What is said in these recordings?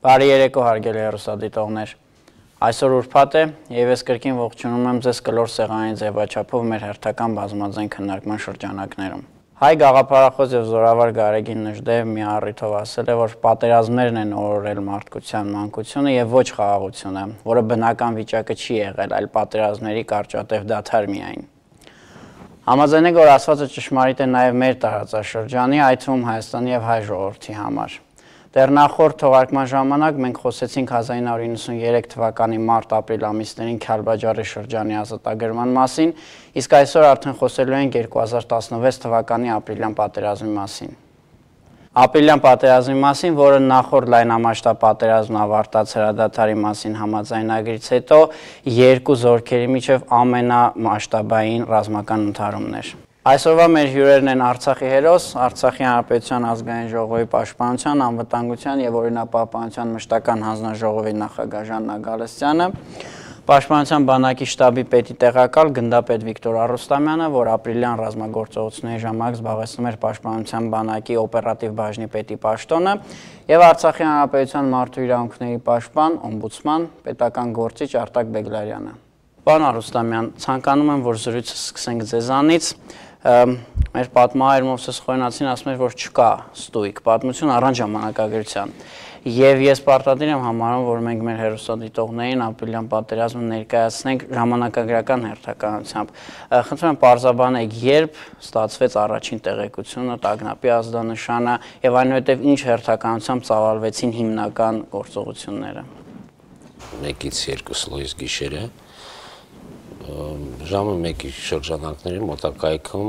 Բարի երեկո հարգելի հեռուստադիտողներ։ Այսօր ուրբաթ է եւ ես կրկին ողջունում եմ ձեզ կլոր սեղանի ձևաչափով մեր հերթական բազմաձայն քննարկման շրջանակներում։ Հայ գաղափարախոս եւ զորավար Գարեգին Նժդեև մի առիթով ասել է, որ պատերազմներն են օրորել մարդկության մանկությունը եւ ոչ խաղաղությունը, որը բնական վիճակը չի եղել, այլ պատերազմների կարճատև դադար միայն։ Համաձայն եք, որ ասվածը ճշմարիտ է նաեւ մեր տարածաշրջանի, այդ թվում Հայաստանի եւ հայ ժողովրդի համար։ Դեռ նախորդ թողարկման ժամանակ մենք խոսեցինք 1993 թվականի մարտ-ապրիլ ամիսներին Քյալբաջարի շրջանի ազատագրման մասին, իսկ այսօր արդեն խոսելու ենք 2016 թվականի ապրիլյան պատերազմի մասին։ Ապրիլյան պատերազմի մասին, որը նախորդ լայնամասշտաբ պատերազմն ավարտած հրադադարի մասին համաձայնագրից հետո երկու զորքերի միջև ամենամասշտաբային ռազմական ընդհարումն էր։ Այսօրվա մեր հյուրերն են Արցախի հերոս, Արցախի Հանրապետության ազգային ժողովի պաշտպանության, անվտանգության եւ օրինապահպանության մշտական հանձնաժողովի նախագահ Ժաննա Գալստյանը, Պաշտպանության բանակի շտաբի պետի տեղակալ գնդապետ Վիկտոր Առուստամյանը, որ ապրիլյան ռազմագործողությունների ժամանակ զբաղեցնում էր Պաշտպանության բանակի օպերատիվ բաժնի պետի պաշտոնը, եւ Արցախի Հանրապետության մարդու իրավունքների պաշտպան, օմբուդսման, պետական գործիչ Արտակ Բեգլարյանը։ Պարոն Առուստամյան, ցանկանում եմ, որ զրույցը սկսենք ձեզանից։ Մեր պատմահայր Մովսես Խորենացին ասում էր, որ չկա ստույգ պատմություն առանց ժամանակագրության։ Եվ ես պարտադիր եմ համարում, որ մենք մեր հեռուստադիտողներին ապրիլյան պատերազմը ներկայացնենք ժամանակագրական հերթականությամբ։ Խնդրում եմ պարզաբանեք, երբ ստացվեց առաջին տեղեկությունը, տագնապի ազդանշանը եւ այնուհետեւ ինչ հերթականությամբ ծավալվեցին հիմնական գործողությունները։ 1-ից 2 լույս գիշերը ժամը 1-ի շրջանակների մոտակայքում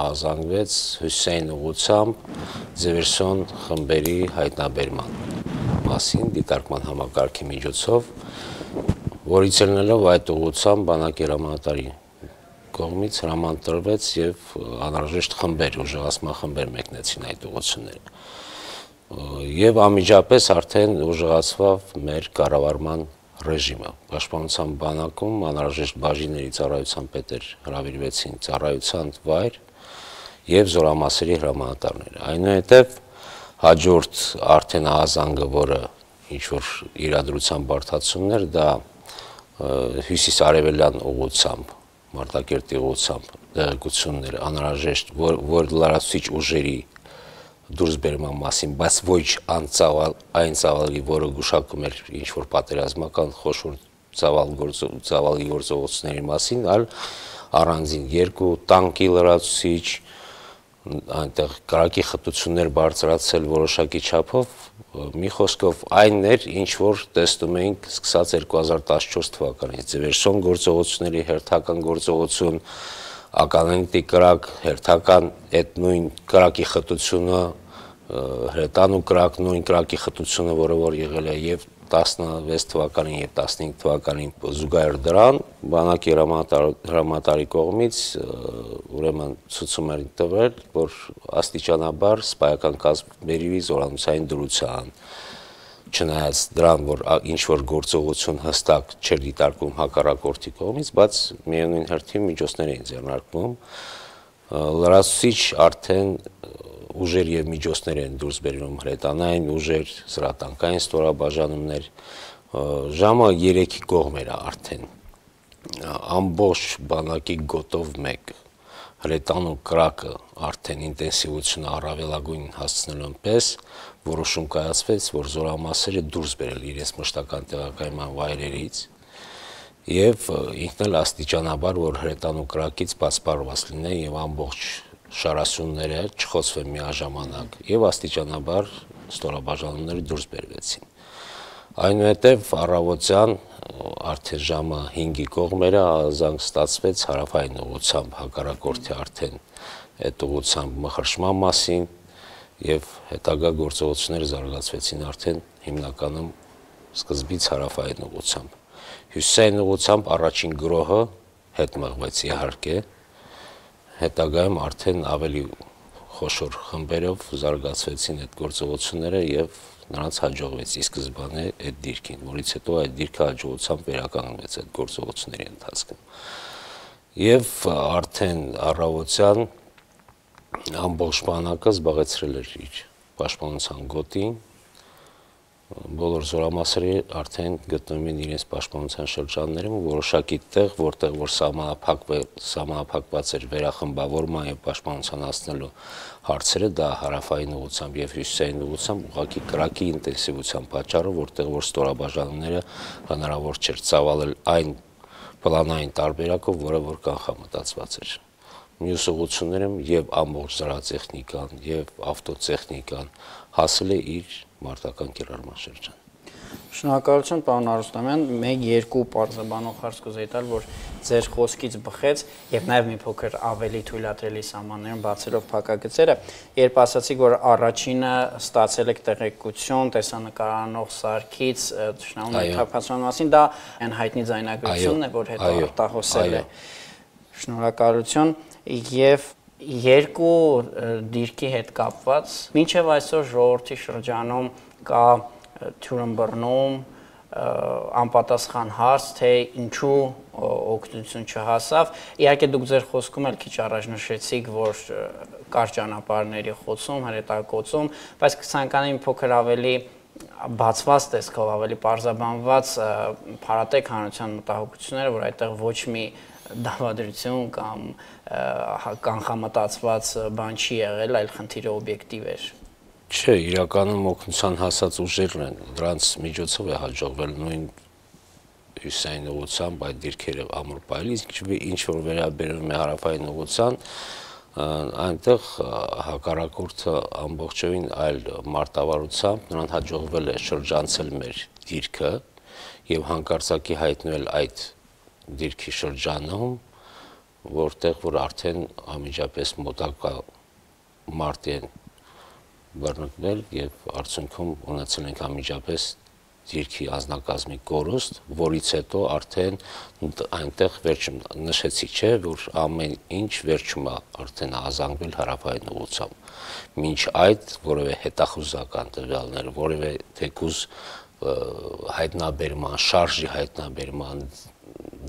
ահազանգվեց Հուսեյն ուղղությամբ Ձևերսոն խմբերի հայտնաբերման մասին դիտարկման համակարգի միջոցով, որից ելնելով այդ ուղղությամբ բանակի հրամանատարի կողմից հրաման տրվեց եւ անհրաժեշտ խմբեր, ուժեղացման խմբեր մեկնեցին այդ ուղղությունները։ Եվ անմիջապես արդեն ուժեղացավ մեր կառավարման ռեժիմը։ Պաշտպանության բանակում անհրաժեշտ բաժինների ծառայության պետեր հրավիրվեցին ծառայության վայր եւ զորամասերի հրամանատարներ։ Այնուհետեւ հաջորդ արդեն ահազանգը, որը ինչ որ իրադրության բարդացումներ, դա հյուսիս-արևելյան ուղղությամբ, Մարտակերտի ուղղությամբ տեղեկություններ անհրաժեշտ, որ լրացուցիչ ուժերի դուրսբերման մասին, բայց ոչ այն ծավալի, որը գուշակում էր ինչ-որ պատերազմական խոշոր ծավալի գործողությունների մասին, այլ առանձին 2 տանկի լրացուցիչ, այնտեղ կրակի խտություններ բարձրացել որոշակի չափով, մի խոսքով այն էր, ինչ որ տեսնում էինք սկսած 2014 թվականից, Ձևերսոն գործողությունների հերթական գործողություն, ականանետի կրակ, հերթական այդ նույն կրակի խտությունը, հրետան ու կրակ, նույն կրակի խտությունը, որը որ եղել է եւ 16 թվականին եւ 15 թվականին զուգահեռ դրան, բանակի հրամանատարի կողմից ուրեմն ցույցում էր տվել, որ աստիճանաբար սպայական կազմերի զորամասային դրության, չնայած դրան, որ ինչ որ գործողություն հստակ չէր դիտարկվում հակառակորդի կողմից, բայց միևնույն հերթին միջոցներ էին ձեռնարկվում, լրացուցիչ արդեն ուժեր եւ միջոցներ են դուրս բերում հրետանային ուժեր, զրատանկային ստորաբաժանումներ, ժամը 3-ի կողմ էր արդեն, ամբողջ բանակի գոտով 1, հրետան ու կրակը արդեն ինտենսիվությունը առավելագույն հասցնելուն պես, որոշում կայացվեց, որ զորամասերը դուրս բերել իրենց մշտական տեղակայման վայրերից եւ ինքն էլ աստիճանաբար, որ հրետան ու կրակից բացառված լինեն եւ ամբողջ շարասյունները չխոցվեն միաժամանակ եւ աստիճանաբար ստորաբաժանումները դուրս բերվեցին։ Այնուհետև առավոտյան արդեն ժամը 5-ի կողմերը ահազանգ ստացվեց հարավային ուղղությամբ հակառակորդի արդեն այդ ուղղությամբ մխրշման մասին եւ հետագա գործողությունները զարգացվեցին արդեն հիմնականում սկզբից հարավային ուղղությամբ։ Հյուսիսային ուղղությամբ առաջին գրոհը հետ մղվեց իհարկե, հետագայում արդեն ավելի խոշոր խմբերով զարգացվեցին այդ գործողությունները եւ նրանց հաջողվեց ի սկզբանե այդ դիրքին, որից հետո այդ դիրքը հաջողությամբ վերականգնվեց այդ գործողությունների ընթացքում։ Եվ արդեն առավոտյան ամբողջ բանակը զբաղեցրել էր իր պաշտպանության գոտին, բոլոր զորամասերը արդեն գտնվում են իրենց պաշտպանության շրջաններում, որոշակի տեղ, որտեղ որ սահմանափակված էր վերախմբավորման եւ պաշտպանության հասնելու հարցերը, դա հարավային ուղղությամբ եւ հյուսիսային ուղղությամբ ուղղակի կրակի ինտենսիվության պատճառով, որտեղ որ ստորաբաժանումները հնարավոր չէր ծավալել այն պլանային տարբերակով, որը որ կանխամտածված էր։ Մյուս ուղղություններում եւ ամբողջ զրահատեխնիկան եւ ավտոտեխնիկան հասել է իր մարտական կիրառման շրջան։ Շնորհակալություն, պարոն Արուստամյան, 1-2 պարզաբանող հարց կուզեի տալ, որ ձեր խոսքից բխեց եւ նաեւ մի փոքր ավելի թույլատրելի սահմաններում բացելով փակագծերը, երբ ասացիք, որ առաջինը ստացել եք տեղեկություն տեսանկարանող սարքից թշնամու թափանցման մասին, դա այն հայտնի ձայնագրությունն է, որ հետո արտահոսել է։ Շնորհակալություն եւ երկու դիրքի հետ կապված մինչև այսօր ժողովրդի շրջանում կա թյուրըմբռնում անպատասխան հարց, թե ինչու օգնություն չհասավ։ Իհարկե դուք ձեր խոսքում էլ քիչ առաջ նշեցիք, որ կար ճանապարհների խոցում, հրետակոծում, բայց կցանկանայի մի փոքր ավելի բացված տեսքով, ավելի պարզաբանված փարատեք հանրության մտահոգությունները, որ այդտեղ ոչ մի դավադրություն կամ կանխամտածված բան չի եղել, այլ խնդիրը օբյեկտիվ էր։ Չէ, իրականում օգնության հասած ուժերն են, դրանց միջոցով է հաջողվել նույն հյուսիսային ուղղությամբ այդ դիրքերը ամուր պայել, ինչ որ վերաբերում է հարավային ուղղության, այնտեղ հակառակորդը ամբողջովին այլ մարտավարությամբ նրան հաջողվել է շրջանցել մեր դիրքը եւ հանկարծակի հայտնել այդ դիրքի շրջանում, որտեղ որ արդեն անմիջապես մոտակա մարտի են բռնկվել եւ արդյունքում ունեցել ենք անմիջապես դիրքի անձնակազմի կորուստ, որից հետո արդեն այնտեղ վերջում նշեցի, չէ, որ ամեն ինչ վերջում է արդեն ազանգվել հարավային ուղղությամբ։ Մինչ այդ որևէ հետախուզական տվյալներ, որևէ թեկուզ հայտնաբերման, շարժի հայտնաբերման,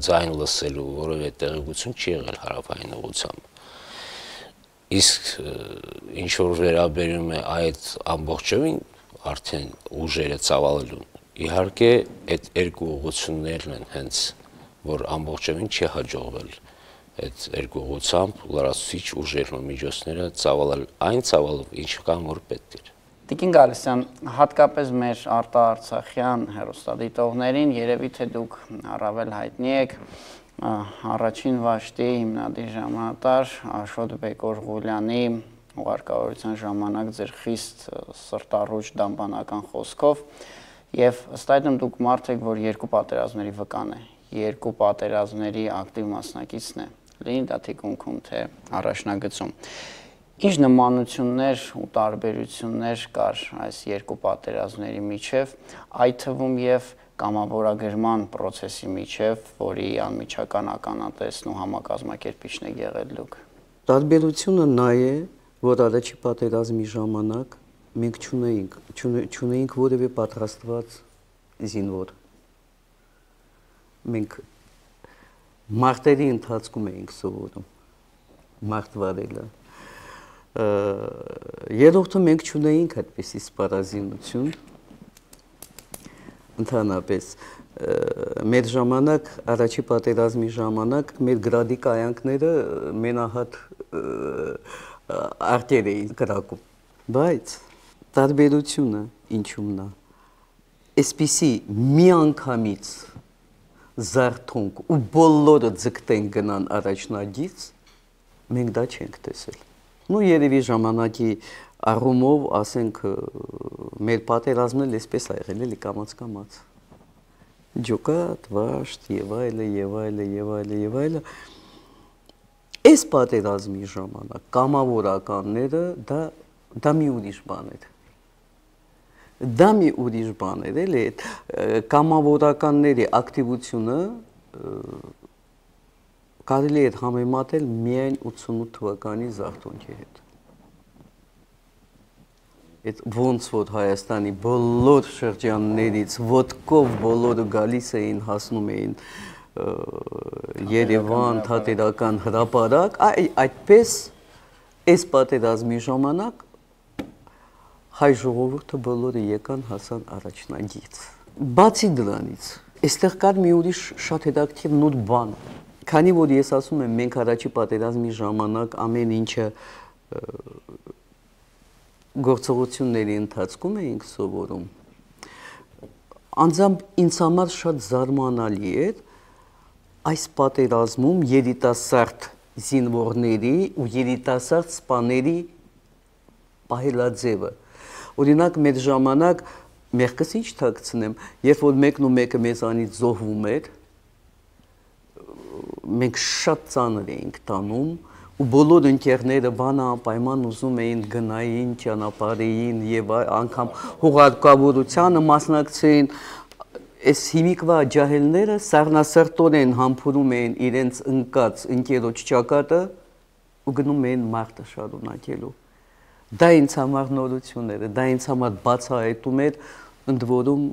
ձայն լսելու որևէ տեղեկություն չի եղել հարավային ուղղությամբ։ Իսկ ինչ որ վերաբերում է այդ ամբողջովին արդեն ուժերը ծավալելուն, իհարկե այդ երկու ուղղություններն են հենց, որ ամբողջովին չի հաջողվել այդ երկու ուղղությամբ լրացուցիչ ուժերն ու միջոցները ծավալել այն ծավալով, ինչ կան որ պետք էր։ Տիկին Գալստյան, հատկապես մեր արտաարցախյան հեռուստադիտողներին երևի թե դուք առավել հայտնի եք առաջին վաշտի հիմնադիր ժամանատար Աշոտ Բեկորղուլյանի ուղարկավորության ժամանակ ձեր խիստ սրտառուչ դամբանական խոսքով եւ ըստ այդմ դուք մարդ եք, որ երկու պատերազմների վկան է, երկու պատերազմների ակտիվ մասնակիցն է, լինի դա թիկունքում թե առաջնագծում։ Ինչ նմանություններ ու տարբերություններ կար այս երկու պատերազմների միջև, այդ թվում եւ կամավորագրման process-ի միջև, որի անմիջական ականատեսն ու համակազմակերպիչն եք եղել դուք։ Տարբերությունը նա է, որ առաջի պատերազմի ժամանակ մենք չունեինք որևէ պատրաստված զինվոր։ Մենք մարտերի ընթացքում էինք սովորում մարտվարելը։ Երրորդը մենք չունեինք այդպիսի սպառազինություն, ընդհանրապես մեր ժամանակ, առաջի պատերազմի ժամանակ մեր գրադի կայանքները մենահատ արտեր էին կրակում, բայց տարբերությունը ինչումն է, այսպիսի մի անգամից զարթոնք ու բոլորը ձգտեն գնան առաջնագից, մենք դա չենք տեսել։ Ну երևի ժամանակի առումով, ասենք, մեր պատերազմն էլ այսպես ա եղել, էլի կամաց-կամաց։ Ջոկատ, վաշտ, եւ այլը, եւ այլը, եւ այլը, եւ այլը։ Այս պատերազմի ժամանակ կամավորականները դա մի ուրիշ բան էր։ Դա մի ուրիշ բան էր, էլի, կամավորականների ակտիվությունը կարելի է համեմատել միայն 88 թվականի զարթոնքի հետ։ Այդ ոնց որ Հայաստանի բոլոր շրջաններից ոտքով բոլորը գալիս էին, հասնում էին Երևան, Թատերական հրապարակ, այդպես այս պատերազմի ժամանակ հայ ժողովուրդը բոլորը եկան հասան առաջնագից։ Բացի դրանից, այստեղ կար մի ուրիշ շատ հետաքրքիր նոր բան։ Քանի որ ես ասում եմ, մենք առաջի պատերազմի ժամանակ ամեն ինչը գործողությունների ընթացքում էինք սովորում, անձամբ ինձ համար շատ զարմանալի էր այս պատերազմում երիտասարդ զինվորների ու երիտասարդ սպաների պահելաձևը։ Օրինակ մեր ժամանակ մեղքս ինչ թաքցնեմ, երբ որ մեկն ու մեկը մեզանից զոհվում էր, մենք շատ ծանր էինք տանում ու բոլոր ընկերները բանապայման ուզում էին գնային, ճանապարհային եւ անգամ հուղարկավորությանը մասնակցեին։ Այս հիմիկվա ջահելները սառնասրտորեն համբուրում էին իրենց ընկած ընկերոջ ճակատը ու գնում էին մարտը շարունակելու։ Դա ինձ համար նորություն էր, դա ինձ համար բացահայտում էր, ընդ որում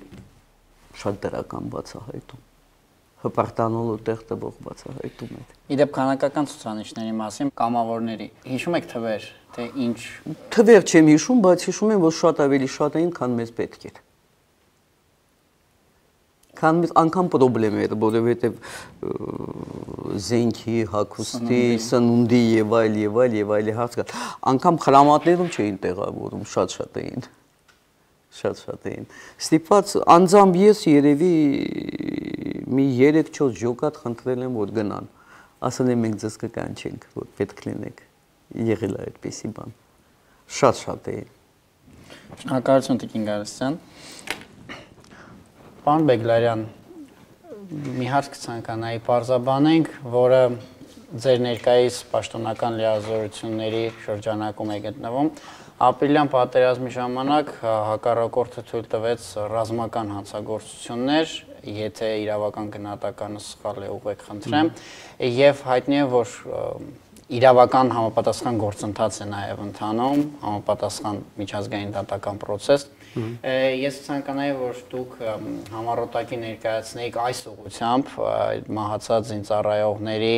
շատ դրական բացահայտում։ Հպարտանալու տեղ տվող բացահայտում էր։ Իդեպ քանակական ցուցանիշների մասին կամավորների հիշում եք թվեր, թե ինչ թվեր չեմ հիշում, բայց հիշում եմ, որ շատ ավելի շատ էին, քան մեզ պետք էր։ Քան մեզ անգամ պրոբլեմ էր, որովհետև զենքի, հագուստի, սնունդի եւ այլ հարց կա։ Անգամ խրամատներում չէին տեղավորում, շատ էին։ Շատ էին։ Ստիպված անձամբ ես երևի մի 3-4 ջոկատ խնդրել եմ, որ գնան։ Ասել եմ մենք ձեզ կկանչենք, որ պետք լինեք։ Եղել է այդպիսի բան։ Շատ էին։ Շնորհակալություն Տիկին Գարասյան։ Պարոն Բեգլարյան, մի հարց կցանկանայի պարզաբանենք, որը ձեր ներկայիս պաշտոնական լիազորությունների շրջանակում է գտնվում։ Ապրիլյան պատերազմի ժամանակ հակառակորդը թույլ տվեց ռազմական հանցագործություններ, եթե իրավական գնահատականը սխալ է, ուղղեք խնդրեմ, եւ հայտնի է, որ իրավական համապատասխան գործընթաց է նաև ընթանում, համապատասխան միջազգային դատական process։ Ես ցանկանայի, որ դուք համառոտակի ներկայացնեիք այս ուղղությամբ մահացած զինծառայողների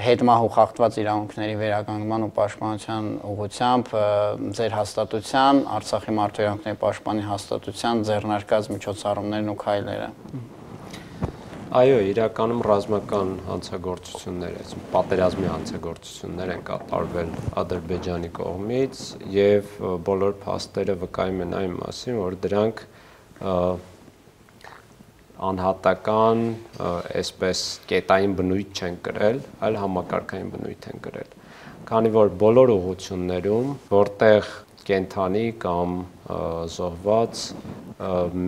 հետմահու խախտված իրավունքների վերականգնման ու պաշտպանության ուղղությամբ ձեր հաստատության, Արցախի մարդու իրավունքների պաշտպանի հաստատության ձեռնարկած միջոցառումներն ու քայլերը։ Այո, իրականում ռազմական հանցագործություններ, պատերազմի հանցագործություններ են կատարվել Ադրբեջանի կողմից եւ բոլոր փաստերը վկայում են այն մասին, որ դրանք անհատական, այսպես կետային բնույթ չեն կրել, այլ համակարգային բնույթ են կրել։ Քանի որ բոլոր ուղղություններում, որտեղ կենթանի կամ զոհված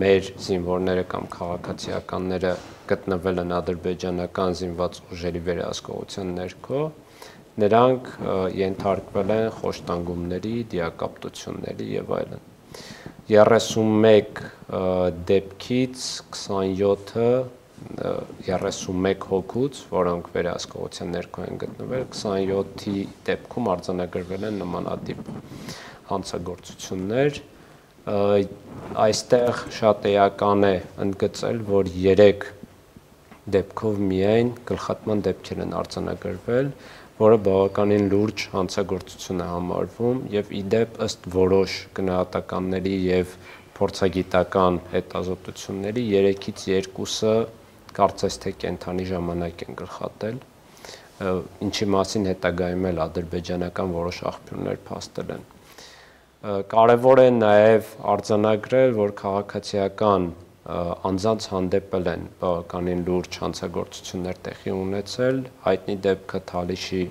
մեր զինվորները կամ քաղաքացիականները գտնվել են ադրբեջանական զինված ուժերի վերահսկողության ներքո, նրանք ենթարկվել են խոշտանգումների, դիակապտությունների եւ այլն։ 31 դեպքից 27-ը 31 հոգուց, որոնք վերահսկողության ներքո են գտնվել, 27-ի դեպքում արձանագրվել են նմանատիպ հանցագործություններ։ Այստեղ շատ էական է ընդգծել, որ 3 դեպքով միայն գլխատման դեպքեր են արձանագրվել, որը բավականին լուրջ հանցագործություն է համարվում եւ իդեպ ըստ որոշ գնահատականների եւ փորձագիտական հետազոտությունների 3-ից 2-ը կարծես թե կենթանի ժամանակ են գլխատել, ինչի մասին հետագայում էլ ադրբեջանական որոշ աղբյուրներ փաստել են։ Կարևոր է նաև արձանագրել, որ քաղաքացիական անձանց հանդեպ են բավականին լուրջ հանցագործություններ տեղի ունեցել, հայտնի դեպքը Թալիշի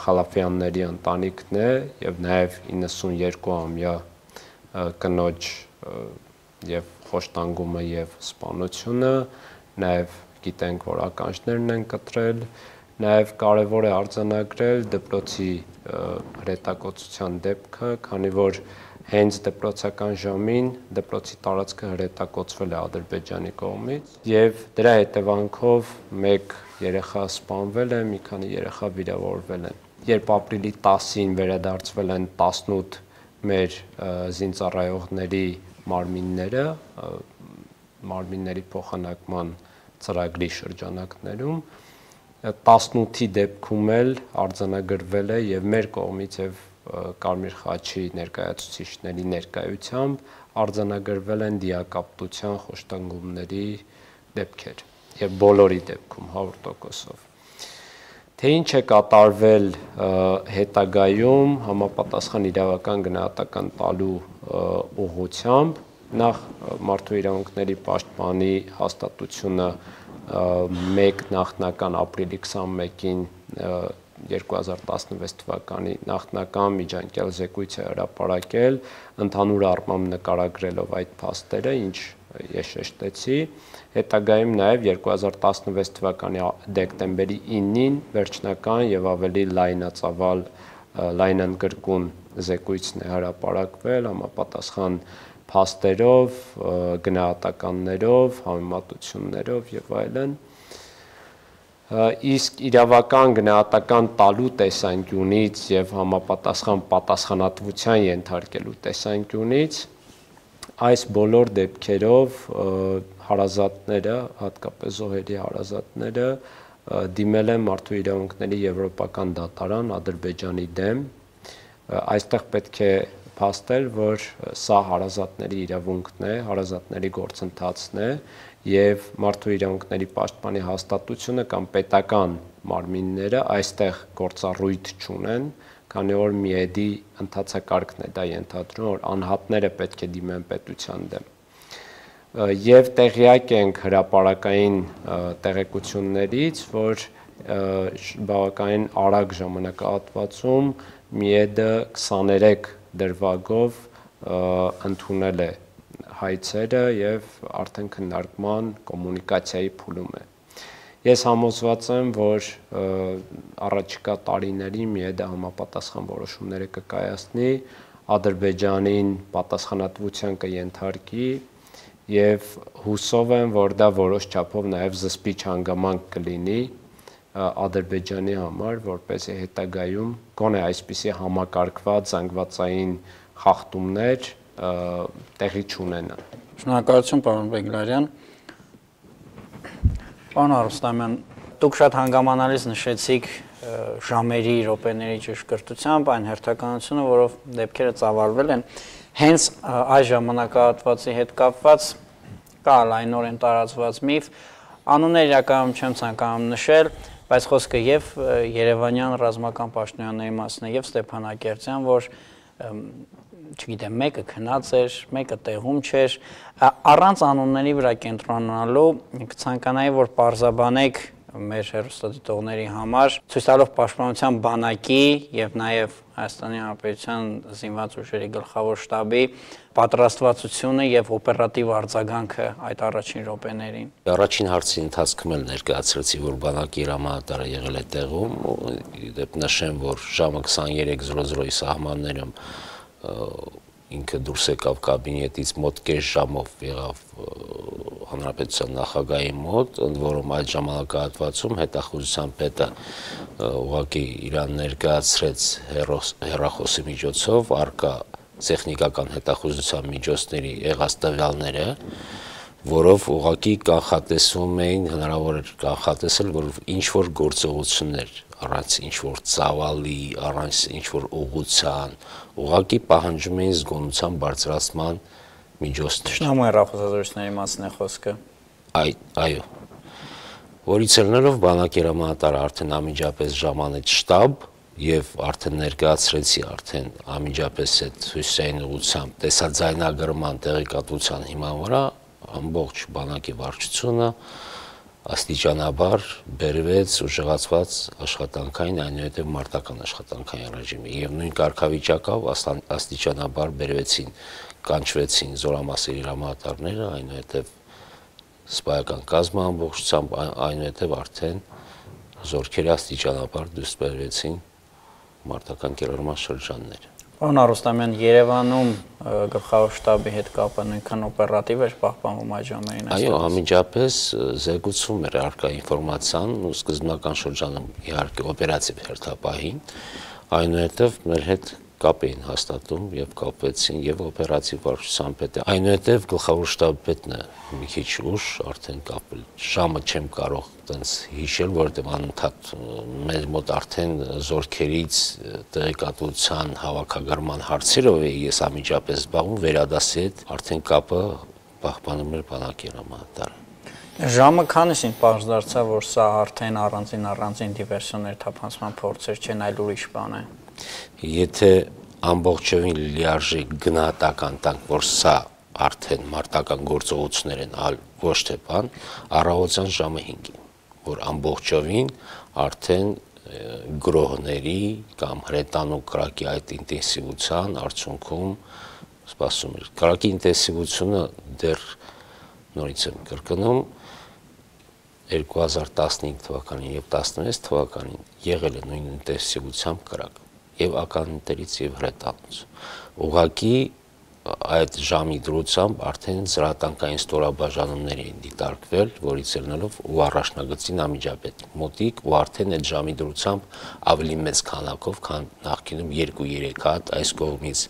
Խալաֆյանների ընտանիքն է եւ նաև 92-ամյա կնոջ եւ խոշտանգումը եւ սպանությունը, նաև գիտենք, որ ականջներն են կտրել, նաև կարևոր է արձանագրել դպրոցի հրետակոծության դեպքը, քանի որ հենց դպրոցական ժամին դպրոցի տարածքը հրետակոծվել է Ադրբեջանի կողմից եւ դրա հետևանքով մեկ երեխա սպանվել է, մի քանի երեխա վիրավորվել են։ Երբ ապրիլի 10-ին վերադարձվել են 18 մեր զինծառայողների մարմինները, մարմինների փոխանակման ծրագրի շրջանակներում, 18-ի դեպքում էլ արձանագրվել է եւ մեր կողմից եւ Կարմիր խաչի ներկայացուցիչների ներկայությամբ արձանագրվել են դիակապտության խոշտանգումների դեպքեր եւ բոլորի դեպքում 100%-ով։ Թե ինչ է կատարվել հետագայում համապատասխան իրավական գնահատական տալու ուղղությամբ, նախ մարդու իրավունքների պաշտպանի հաստատությունը 1 նախնական ապրիլի 21-ին 2016 թվականի նախնական միջանկյալ զեկույց է հրապարակել, ընդհանուր առմամբ նկարագրելով այդ փաստերը, ինչ ես շեշտեցի, հետագայում նաև 2016 թվականի դեկտեմբերի 9-ին վերջնական եւ ավելի լայնածավալ լայնանկրկուն զեկույցն է հրապարակվել համապատասխան փաստերով, գնահատականներով, համեմատություններով եւ այլն։ Իսկ իրավական գնահատական տալու տեսանկյունից եւ համապատասխան պատասխանատվության ենթարկելու տեսանկյունից այս բոլոր դեպքերով հարազատները, հատկապես զոհերի հարազատները դիմել են մարդու իրավունքների եվրոպական դատարան Ադրբեջանի դեմ։ Այստեղ պետք է փաստել, որ սա հարազատների իրավունքն է, հարազատների գործընթացն է եւ մարդու իրավունքների պաշտպանի հաստատությունը կամ պետական մարմինները այստեղ գործառույթ չունեն, քանի որ ՄԻԵԴ-ի ընթացակարգն է դա ենթադրում, որ անհատները պետք է դիմեն պետության դեմ։ Եվ տեղյակ ենք հրապարակային տեղեկություններից, որ բավականին արագ ժամանակահատվածում ՄԻԵԴ-ը 23 դրվագով ընդունել է հայցերը եւ արդեն քննարկման կոմունիկացիայի փուլում է։ Ես համոզված եմ, որ առաջիկա տարիներին ՄԻԵԴ-ը համապատասխան որոշումները կկայացնի, Ադրբեջանին պատասխանատվության կենթարկի եւ հուսով եմ, որ դա որոշ չափով նաեւ զսպիչ հանգամանք կլինի Ադրբեջանի համար, որպեսզի հետագայում գոնե այսպիսի համակարգված զանգվածային խախտումներ տեղի չունենան։ Շնորհակալություն, պարոն Բեգլարյան։ Պարոն Արուստամյան, դուք շատ հանգամանալից նշեցիք ժամերի, րոպեների ճշգրտությամբ այն հերթականությունը, որով դեպքերը ծավալվել են, հենց այս ժամանակահատվածի հետ կապված կա լայնորեն տարածված միֆ, անուններ իրականում չեմ ցանկանում նշել, բայց խոսքը եւ Երևանյան ռազմական պաշտոնյաների մասն է եւ Ստեփանակերտյան, որ չգիտեմ, մեկը քնած էր, մեկը տեղում չէր, առանց անունների վրա կենտրոնանալու կցանկանայի, որ պարզաբանեք մեր հեռուստադիտողների համար, ցույց տալով պաշտպանության բանակի եւ նաեւ Հայաստանի Հանրապետության զինված ուժերի գլխավոր շտաբի պատրաստվածությունը եւ օպերատիվ արձագանքը այդ առաջին րոպեներին։ Առաջին հարցի ընթացքում էլ ներկայացրեցի, որ բանակի հրամանատարը եղել է տեղում, դեպ նշեմ, որ ժամը 23:00-ի սահմաններում ինքը դուրս եկավ կաբինետից մոտ կես ժամով եղավ հանրապետության նախագահի մոտ, ընդ որում այդ ժամանակահատվածում հետախուզության պետը ուղղակի իրան ներկայացրեց հեռախոսի միջոցով արկա տեխնիկական հետախուզության միջոցների եղած տվյալները, որով ուղղակի կանխատեսում էին, հնարավոր էր կանխատեսել, որ ինչ որ գործողություններ առանց ինչ որ ծավալի, առանց ինչ որ ուղղության, ուղղակի պահանջում էին զգոնության բարձրացման միջոցներ։ Շնորհակալ հեռախոսազրույցների մասն է խոսքը։ Այո։ Որից ելնելով բանակի հրամանատարը արդեն անմիջապես ժամանեց շտաբ եւ արդեն ներկայացրեցի արդեն անմիջապես այդ հյուսային ուղղությամբ տեսաձայնագրման տեղեկատվության հիման վրա ամբողջ բանակի վարչությունը աստիճանաբար բերվեց ուժեղացված աշխատանքային, այնուհետև մարտական աշխատանքային ռեժիմի եւ նույն կարգավիճակով աստիճանաբար բերվեցին, կանչվեցին զորամասերի հրամանատարները, այնուհետև սպայական կազմը ամբողջությամբ, այնուհետև արդեն զորքերի աստիճանաբար դուրս բերվեցին մարտական կիրառման շրջանները։ Պարոն Արուստամյան, Երևանում գլխավոր շտաբի հետ կապը նույնքան օպերատիվ էր պահպանվում այդ ժամերին։ Այո, անմիջապես զեկուցում էր առկա ինֆորմացիան ու սկզբնական շրջանում իհարկե օպերատիվ հերթապահին, այնուհետև մեր հետ կապ էին հաստատում եւ կապվեցին եւ օպերատիվ վարչության պետը։ Այնուհետեւ գլխավոր շտաբի պետն է մի քիչ ուշ արդեն կապել։ Ժամը չեմ կարող տենց հիշել, որովհետեւ անընդհատ մեր մոտ արդեն զորքերից տեղեկատվության հավաքագրման հարցերով էի ես անմիջապես զբաղվում, վերադասի հետ արդեն կապը պահպանում էր բանակի հրամանատարը։ Ժամը քանիսին պարզ դարձավ, որ սա արդեն առանձին դիվերսիոներ թափանցման փորձեր չեն, այլ ուրիշ բան է։ Եթե ամբողջովին լիարժեք գնահատական տանք, որ սա արդեն մարտական գործողություններ են, այլ ոչ թե բան, առավոտյան ժամը 5-ին, որ ամբողջովին արդեն գրոհների կամ հրետանու կրակի այդ ինտենսիվության արդյունքում սպասում էր։ Կրակի ինտենսիվությունը դեռ նորից եմ կրկնում 2015 թվականին եւ 16 թվականին եղել է նույն ինտենսիվությամբ կրակ եւ ականաններից եւ հրետանուց։ Ուղղակի այդ ժամի դրությամբ արդեն զրատանքային ստորաբաժանումներ էին դիտարկվել, որից ելնելով ու առաջնագծին անմիջապես մոտիկ ու արդեն այդ ժամի դրությամբ ավելի մեծ քանակով, քան նախկինում 2-3 հատ այս կողմից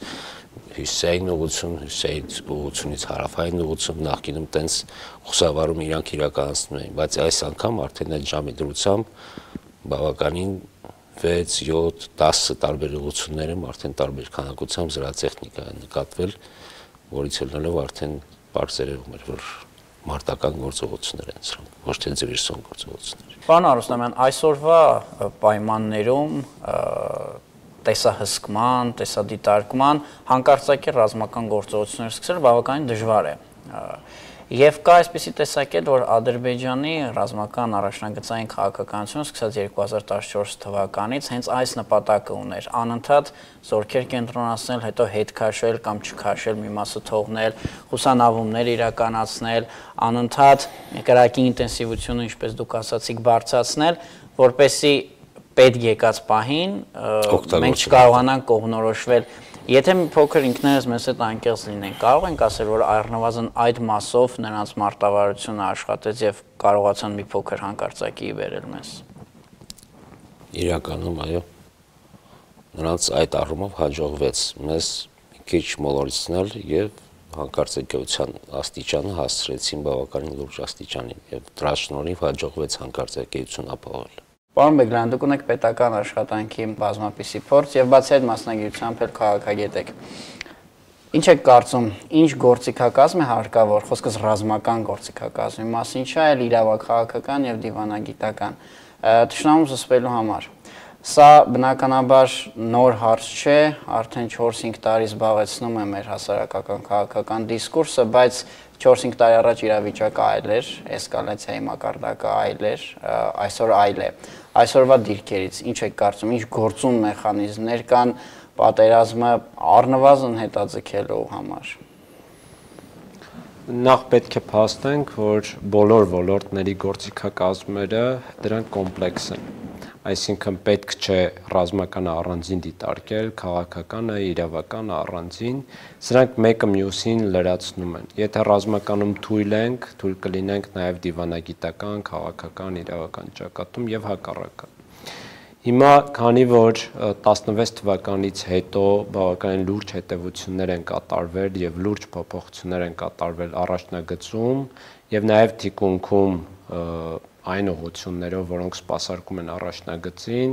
հյուսիսային ուղղություն, հյուսիսային ուղղությունից հարավային ուղղություն, նախկինում տենց խուսավարում իրանք իրականացնում էին, բայց այս անգամ արդեն այդ ժամի դրությամբ բավականին 6, 7, 10 տարբեր ուղղություններում արդեն տարբեր քանակությամբ զրատեխնիկա է նկատվել, որից ելնելով արդեն բարձրացում էր, որ մարտական գործողություններ են սրանք, ոչ թե դիվերսիոն գործողություններ։ Պարոն Արուստամյան, այսօրվա պայմաններում տեսահսկման, տեսադիտարկման հանկարծակի ռազմական գործողություններ սկսել բավականին դժվար է։ Եվ կա այսպիսի տեսակետ, որ Ադրբեջանի ռազմական առաջնագծային քաղաքականությունը սկսած 2014 թվականից հենց այս նպատակը ուներ՝ անընդհատ զորքեր կենտրոնացնել, հետո հետ քաշել կամ չքաշել, մի մասը թողնել, խուսանավումներ իրականացնել, անընդհատ կրակի ինտենսիվությունը, ինչպես դուք ասացիք, բարձրացնել, որպեսզի պետք եկած պահին մենք չկարողանանք կողմնորոշվել։ Եթե մի փոքր ինքներս մեզ հետ անկեղծ լինենք, կարող ենք ասել, որ առնվազն այդ մասով նրանց մարտավարությունը աշխատեց եւ կարողացան մի փոքր հանկարծակի բերել մեզ։ Իրականում այո, նրանց այդ առումով հաջողվեց մեզ մի քիչ մոլորեցնել եւ հանկարծակիության աստիճանը հասցրեցին բավականին լուրջ աստիճանի եւ դրա շնորհիվ հաջողվեց հանկարծակիություն ապահովել։ Պարոն Բեգլյան, դուք ունեք պետական աշխատանքի բազմապիսի փորձ եւ բացի այդ մասնագիտությամբ էլ քաղաքագետ եք։ Ինչ եք կարծում, ինչ գործիքակազմ է հարկավոր, խոսքս ռազմական գործիքակազմի մասին չէ, այլ իրավաքաղաքական եւ դիվանագիտական, թշնամու զսպելու համար։ Սա բնականաբար նոր հարց չէ, արդեն 4-5 տարի զբաղեցնում է մեր հասարակական քաղաքական դիսկուրսը, բայց 4-5 տարի առաջ իրավիճակը այլ էր, էսկալացիայի մակարդակը այլ էր, այսօր այլ է։ Այսօրվա դիրքերից ինչ եք կարծում, ինչ գործուն մեխանիզմներ կան պատերազմը առնվազն հետաձգելու համար։ Նախ պետք է փաստենք, որ բոլոր ոլորտների գործիքակազմերը դրանք կոմպլեքս են։ Այսինքն պետք չէ ռազմականը առանձին դիտարկել, քաղաքականը, իրավականը առանձին, սրանք մեկը մյուսին լրացնում են։ Եթե ռազմականում թույլ կլինենք նաև դիվանագիտական, քաղաքական, իրավական ճակատում եւ հակառակը։ Հիմա, քանի որ 16 թվականից հետո բավականին լուրջ հետևություններ են կատարվել եւ լուրջ փոփոխություններ են կատարվել առաջնագծում եւ նաեւ թիկունքում այն ուղղություններով, որոնք սպասարկում են առաջնագծին,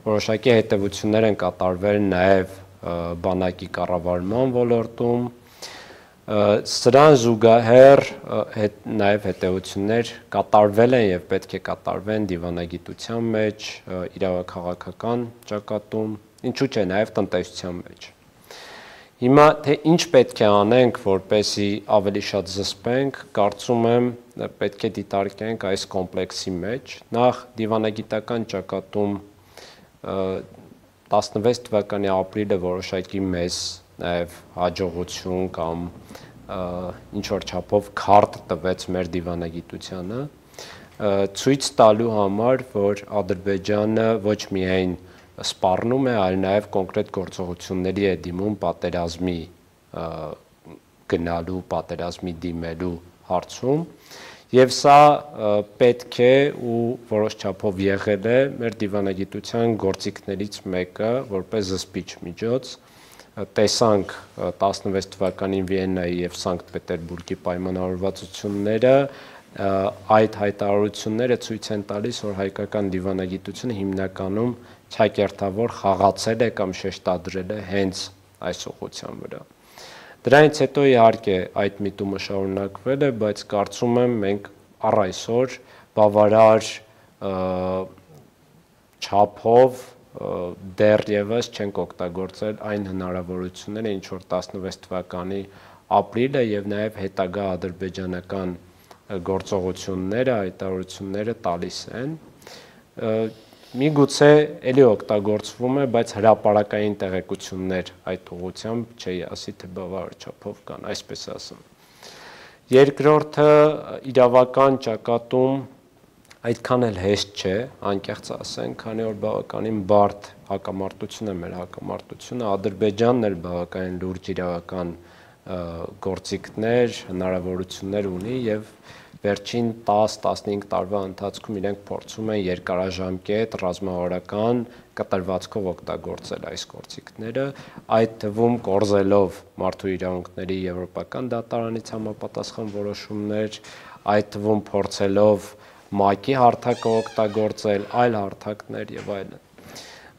որոշակի հետևություններ են կատարվել նաև բանակի կառավարման ոլորտում, սրան զուգահեռ նաև հետևություններ կատարվել են եւ պետք է կատարվեն դիվանագիտության մեջ, իրավաքաղաքական ճակատում, ինչու՞ չէ նաև տնտեսության մեջ։ Հիմա թե ինչ պետք է անենք, որպեսզի ավելի շատ զսպենք, կարծում եմ պետք է դիտարկենք այս կոմպլեքսի մեջ։ Նախ դիվանագիտական ճակատում 16 թվականի ապրիլը որոշակի մեծ նաև հաջողություն կամ ինչ որ չափով քարտ տվեց մեր դիվանագիտությանը, ցույց տալու համար, որ Ադրբեջանը ոչ միայն սպառնում է, այլ նաև կոնկրետ գործողությունների է դիմում պատերազմի գնալու, պատերազմի դիմելու հարցում, եւ սա պետք է ու որոշ չափով եղել է մեր դիվանագիտության գործիքներից մեկը, որպես զսպիչ միջոց, տեսանք 16 թվականին Վիեննայի եւ Սանկտ Պետերբուրգի պայմանավորվածությունները, այդ հայտարարությունները ցույց են տալիս, որ հայկական դիվանագիտությունը հիմնականում ճակերտավոր խաղացել է կամ շեշտադրել է հենց այս ուղղության վրա։ Դրանից հետո իհարկե այդ միտումը շարունակվել է, բայց կարծում եմ մենք առ այսօր բավարար չափով դեռևս չենք օգտագործել այն հնարավորությունները, ինչ որ 16 թվականի ապրիլը եւ նաեւ հետագա ադրբեջանական գործողությունները, հայտարարությունները տալիս են։ Միգուցե էլի օգտագործվում է, բայց հրապարակային տեղեկություններ այդ ուղղությամբ չի ասի, թե բավարար չափով կան, այսպես ասեմ։ Երկրորդը իրավական ճակատում այդքան էլ հեշտ չէ, անկեղծ ասենք, քանի որ բավականին բարդ հակամարտություն է մեր հակամարտությունը, Ադրբեջանն էլ բավականին լուրջ իրավական գործիքներ, հնարավորություններ ունի եւ վերջին 10-15 տարվա ընթացքում իրենք փորձում են երկարաժամկետ ռազմավարական կտրվածքով օգտագործել այս գործիքները, այդ թվում կորզելով մարդու իրավունքների եվրոպական դատարանից համապատասխան որոշումներ, այդ թվում փորձելով ՄԱԿ-ի հարթակը օգտագործել, այլ հարթակներ եւ այլն։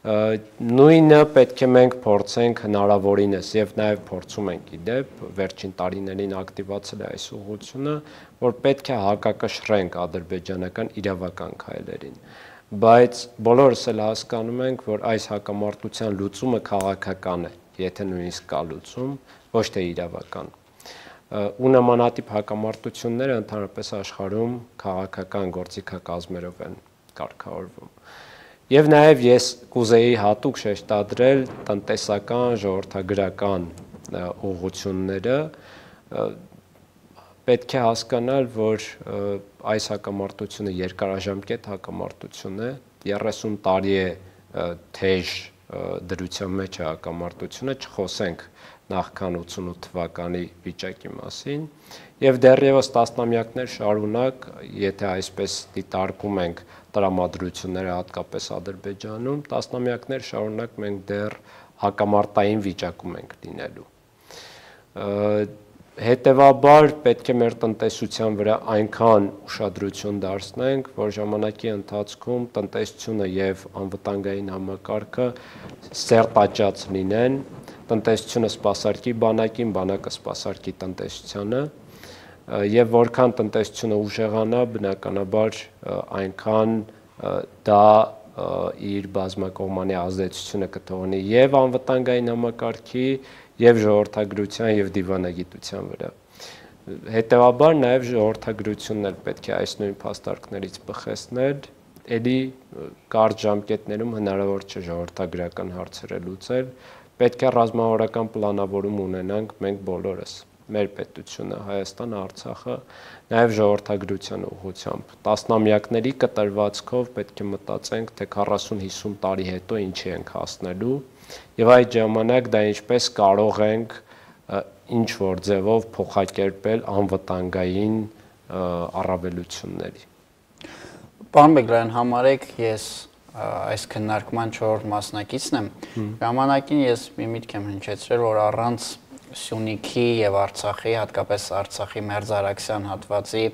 Նույնը պետք է մենք փորձենք հնարավորինս եւ նաեւ փորձում ենք իդեպ վերջին տարիներին ակտիվացել է այս ուղղությունը, որ պետք է հակակշռենք ադրբեջանական իրավական քայլերին, բայց բոլորս էլ հասկանում ենք, որ այս հակամարտության լուծումը քաղաքական է, եթե նույնիսկ կա լուծում, ոչ թե իրավական։ Ու նմանատիպ հակամարտությունները ընդհանրապես աշխարհում քաղաքական գործիքակազմերով են կարգավորվում։ Եվ նաև ես կուզեի հատուկ շեշտադրել տնտեսական, ժողովրդագրական ուղղությունները, պետք է հասկանալ, որ այս հակամարտությունը երկարաժամկետ հակամարտություն է, 30 տարի է թեժ դրության մեջ է հակամարտությունը, չխոսենք նախքան 88 թվականի վիճակի մասին, եւ դեռևս տասնամյակներ շարունակ, եթե այսպես դիտարկում ենք տրամադրությունները հատկապես Ադրբեջանում, տասնամյակներ շարունակ մենք դեռ հակամարտային վիճակում ենք լինելու։ Հետևաբար պետք է մեր տնտեսության վրա այնքան ուշադրություն դարձնենք, որ ժամանակի ընթացքում տնտեսությունը եւ անվտանգային համակարգը սերտաճած լինեն, տնտեսությունը սպասարկի բանակին, բանակը սպասարկի տնտեսությանը, եւ որքան տնտեսությունը ուժեղանա, բնականաբար այնքան դա իր բազմակողմանի ազդեցությունը կթողնի եւ անվտանգային համակարգի, եւ ժողովրդագրության եւ դիվանագիտության վրա։ Հետևաբար նաեւ ժողովրդագրությունն էլ պետք է այս նույն փաստարկներից բխեցնել, ելի կարճ ժամկետներում հնարավոր չէ ժողովրդագրական հարցերը լուծել, պետք է ռազմավարական պլանավորում ունենանք մենք բոլորս, մեր պետությունը, Հայաստանը, Արցախը, նաեւ ժողովրդագրության ուղղությամբ։ Տասնամյակների կտրվածքով պետք է մտածենք, թե 40-50 տարի հետո ինչի ենք հասնելու եւ այդ ժամանակ դա ինչպես կարող ենք ինչ որ ձևով փոխակերպել անվտանգային առավելությունների։ Պարոն Բեգլարյան, համարեք ես այս քննարկման 4 մասնակիցն եմ։ Ժամանակին ես մի միտք եմ հնչեցրել, որ առանց Սյունիքի եւ Արցախի, հատկապես Արցախի մերձարաքսյան հատվածի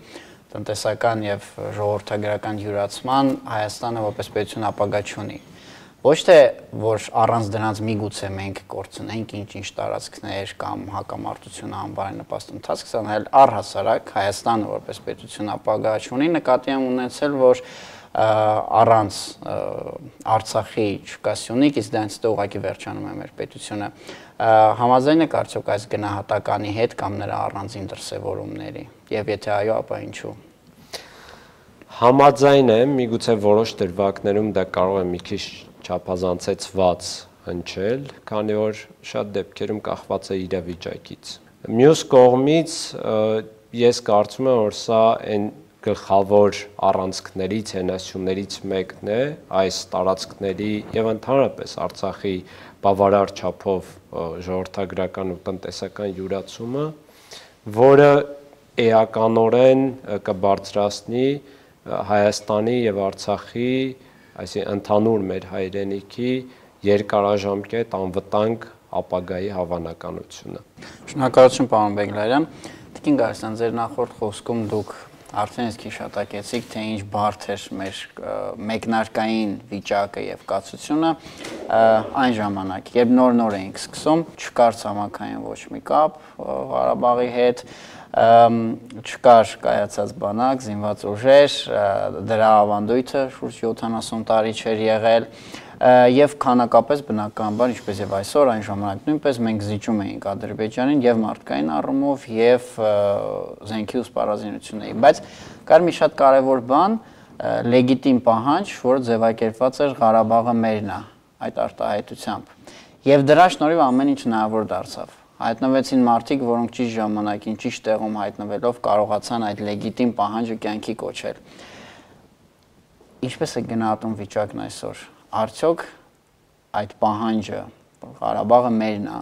տնտեսական եւ ժողովրդագրական յուրացման Հայաստանը որպես պետություն ապագա չունի։ Ոչ թե որ առանց դրանց միգուցե մենք կորցնենք ինչ-ինչ տարածքներ կամ հակամարտությունը անբարենպաստ ընթացք ստանալ, այլ առհասարակ Հայաստանը որպես պետություն ապագա չունի, նկատի եմ ունեցել, որ առանց Արցախի չկա Սյունիք, իսկ դրանից հետո ուղղակի վերջանում է մեր պետությունը։ Համաձայն եք արդյոք այս գնահատականի հետ կամ նրա առանձին դրսևորումների, եւ եթե այո, ապա ինչու։ Համաձայն եմ, միգուցե որոշ դրվագներում դա կարող է մի քիչ չափազանցեցված հնչել, քանի որ շատ դեպքերում կախված է իրավիճակից։ Մյուս կողմից ես կարծում եմ, որ սա այն գլխավոր առանցքներից, հենասյուներից մեկն է այս տարածքների եւ ընդհանրապես Արցախի բավարար չափով ժողովրդագրական ու տնտեսական յուրացումը, որը էականորեն կբարձրացնի Հայաստանի եւ Արցախի, այսինքն ընդհանուր մեր հայրենիքի երկարաժամկետ անվտանգ ապագայի հավանականությունը։ Շնորհակալություն պարոն Բեգլարյան։ Տիկին Գարստյան, ձեր նախորդ խոսքում դուք արդեն իսկ հիշատակեցիք, թե ինչ բարդ էր մեր մեկնարկային վիճակը եւ կացությունը այն ժամանակ, երբ նոր էինք սկսում, չկար ցամաքային ոչ մի կապ Ղարաբաղի հետ, չկար կայացած բանակ, զինված ուժեր, դրա ավանդույթը շուրջ 70 տարի չէր եղել եւ քանակապես բնականաբար ինչպես եւ այսօր այն ժամանակ նույնպես մենք զիջում էինք Ադրբեջանին եւ մարդկային առումով եւ զենքի ու սպառազինությունների, բայց կար մի շատ կարեւոր բան, լեգիտիմ պահանջ, որը ձևակերպված էր Ղարաբաղը մերն է այդ արտահայտությամբ եւ դրա շնորհիվ ամեն ինչ հնարավոր դարձավ։ Հայտնվեցին մարդիկ, որոնք ճիշտ ժամանակին, ճիշտ տեղում հայտնվելով կարողացան այդ լեգիտիմ պահանջը կյանքի կոչել։ Ինչպես է գնահատում վիճակն այսօր։ Արդյոք այդ պահանջը Ղարաբաղը մերն է